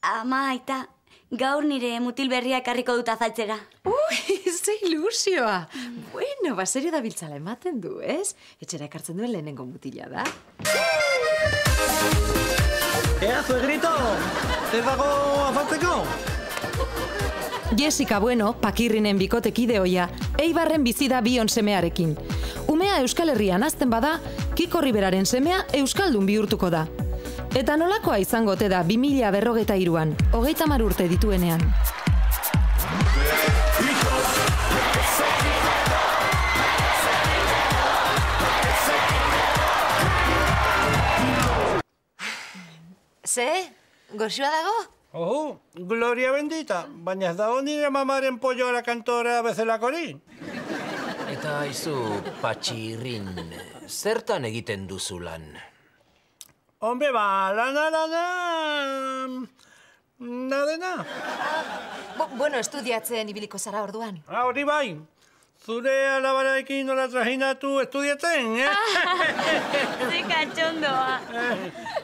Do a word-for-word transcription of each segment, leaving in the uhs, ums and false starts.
Ama, aita, gaur nire mutil berria ekarriko dut azaltzera. Ui, ze ilusioa! Bueno, baserio da biltzala ematen du, ez? Etxera ekartzen duen lehenengo mutila da. Ea, suegrito! Ez dago afaltzeko? Jessica Bueno, Pakirrinen bikotekide ohia, Eibarren bizi da bion semearekin. Umea Euskal Herrian hazten bada, Kiko Riberaren semea euskaldun bihurtuko da. Eta nolakoa izango ote da bi mila berrogeita hiruan, hogeita hamar urte dituenean. Ze? Goxua dago? Oho, gloria bendita, baina ez dago nire mamaren pollo a la kantora bezalakori. Eta aizu, Patxirrin, zertan egiten duzu lan? Hombre, ba, lana, lana... Nadena. Bo, bueno, estudiatzen ibiliko zara orduan. Ah, hori bai. Zure alabaraekin nola trajinatu estudiatzen, eh? Ze katxondoa.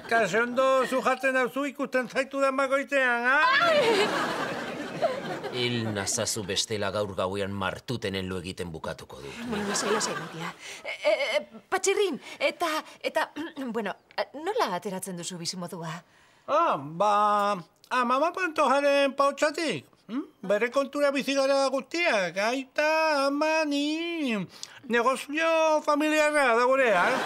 Katxondo zujatzen hauzu ikusten zaitu den bakoitzean, ha? Hil nazazu bestela gaur gauean martutenen lo egiten bukatuko dut. Bueno, lasai, lasai, Matia. E, e, Patxirrin, eta, eta, bueno, nola ateratzen duzu bizimodua? Ah, ba, amama Pantojaren pautxatik. Hmm? Bere kontura bizi gara guztiak, aita, ama, ni... Negozio familiarra da gurea, eh?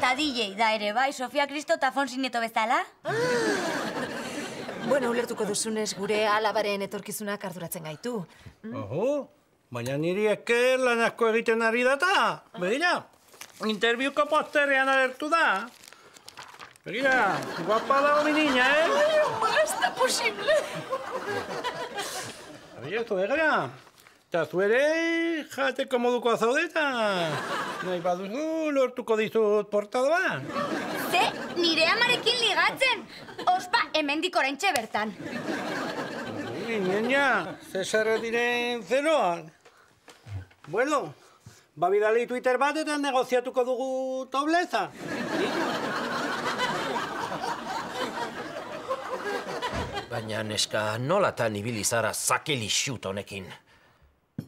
Ta D J da ere, bai, Sofia Kristo eta Fonsi Nieto bezala? Bueno, ulertuko duzunez gure alabaren etorkizunak arduratzen gaitu. Oho, baina niri esker lan asko egiten ari data. Begira, interbiuko posterean alertu da. Begira, guapa dago mi niña, eh? Ai, oma, ez da posible! Begira, zu begira. Eta zu ere jateko moduko zaudeta. Nahi baduzu lortuko dizut portada. Ze, nire amarekin ligatzen. Ospa, hemendik oraintxe bertan. Niña, Cesar diren zeroan. Bueno, ba bidali Twitter bat eta negoziatuko dugu tobleza. Baina neska, nolatan ibili zara zakeli xut honekin?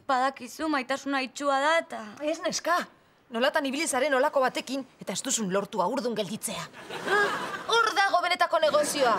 Badakizu, maitasuna itxua da eta... Ez neska, nolatan ibilizaren olako batekin eta ez duzun lortu aurdun gelditzea. Hor dago benetako negozioa.